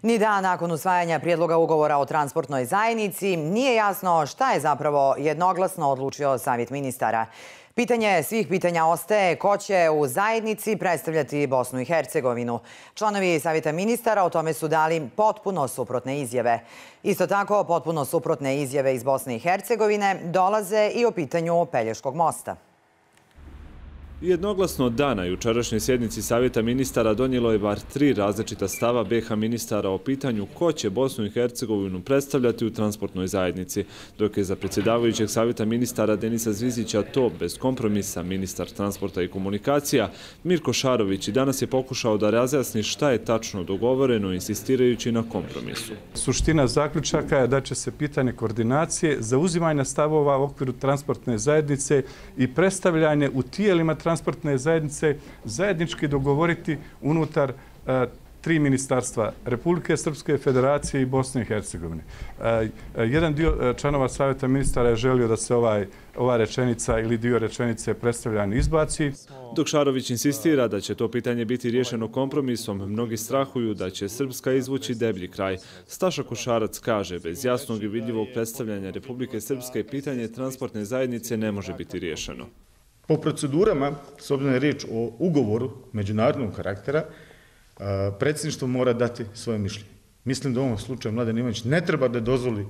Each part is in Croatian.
Ni dan nakon usvajanja prijedloga ugovora o transportnoj zajednici nije jasno šta je zapravo jednoglasno odlučio Savjet ministara. Pitanje svih pitanja ostaje ko će u zajednici predstavljati Bosnu i Hercegovinu. Članovi Savjeta ministara o tome su dali potpuno suprotne izjave. Isto tako, potpuno suprotne izjave iz Bosne i Hercegovine dolaze i o pitanju Pelješkog mosta. Jednoglasno od dana jučerašnje sjednici Savjeta ministara donijelo je bar 3 različita stava BiH ministara o pitanju ko će Bosnu i Hercegovinu predstavljati u transportnoj zajednici, dok je za predsjedavajućeg Savjeta ministara Denisa Zvizića to bez kompromisa ministar transporta i komunikacija Mirko Šarović i danas je pokušao da razjasni šta je tačno dogovoreno insistirajući na kompromisu. Suština zaključaka je da će se pitanje koordinacije, zauzimanja stavova u okviru transportne zajednice i predstavljanje u tijelima transportne zajednice zajednički dogovoriti unutar 3 ministarstva Republike Srpske, Federacije i Bosne i Hercegovine. Jedan dio članova Savjeta ministara je želio da se ova rečenica ili dio rečenice predstavljanja izbaci. Dok Šarović insistira da će to pitanje biti riješeno kompromisom, mnogi strahuju da će Srpska izvući deblji kraj. Staša Košarac kaže, bez jasnog i vidljivog predstavljanja Republike Srpske pitanje transportne zajednice ne može biti riješeno. Po procedurama, s obzirom je riječ o ugovoru međunarodnog karaktera, predsjedništvo mora dati svoje mišljenje. Mislim da u ovom slučaju Mladen Ivanić ne treba da dozvoli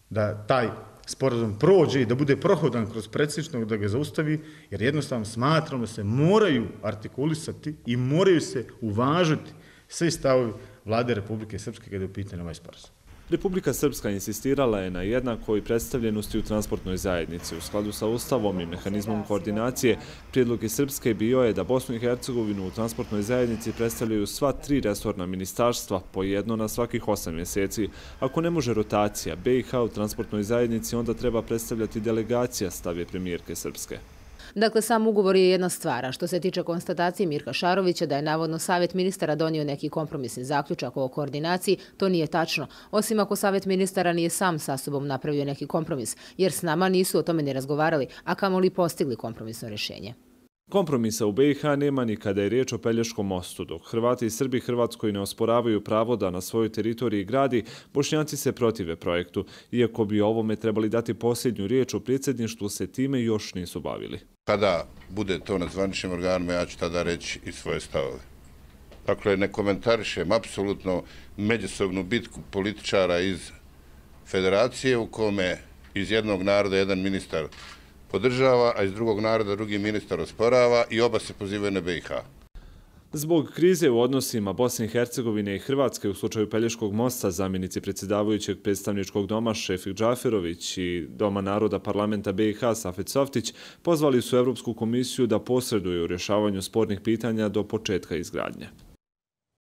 da taj sporazum prođe i da bude prohodan kroz predsjedništvo, da ga zaustavi, jer jednostavno smatram da se moraju artikulisati i moraju se uvažiti svi stavovi Vlade Republike Srpske kada je u pitanju ovaj sporazum. Republika Srpska insistirala je na jednakoj predstavljenosti u transportnoj zajednici. U skladu sa Ustavom i mehanizmom koordinacije, prijedlog iz Srpske bio je da Bosnu i Hercegovinu u transportnoj zajednici predstavljaju sva 3 resorna ministarstva, po jedno na svakih 8 mjeseci. Ako ne može rotacija BiH u transportnoj zajednici, onda treba predstavljati delegacija, stav je premijerke Srpske. Dakle, sam ugovor je jedna stvar, a što se tiče konstatacije Mirka Šarovića da je navodno Savjet ministara donio neki kompromisni zaključak o koordinaciji, to nije tačno, osim ako Savjet ministara nije sam sa sobom napravio neki kompromis, jer s nama nisu o tome ni razgovarali, a kamoli postigli kompromisno rješenje. Kompromisa u BiH nema ni kada je riječ o Pelješkom mostu. Dok Hrvati i Srbi Hrvatskoj ne osporavaju pravo da na svojoj teritoriji gradi, Bošnjaci se protive projektu. Iako bi ovome trebali dati posljednju riječ, u predsjedništvu se time još nisu bavili. Kada bude to na zvaničnim organima, ja ću tada reći i svoje stavove. Dakle, ne komentarišem apsolutno međusobnu bitku političara iz federacije u kome iz jednog naroda jedan ministar podržava, a iz drugog naroda drugi ministar osporava i oba se pozivaju na BiH. Zbog krize u odnosima Bosne i Hercegovine i Hrvatske u slučaju Pelješkog mosta, zamjenici predsjedavajućeg predstavničkog doma Šefik Džaferović i Doma naroda parlamenta BiH Safet Softić pozvali su Evropsku komisiju da posreduje u rješavanju spornih pitanja do početka izgradnje.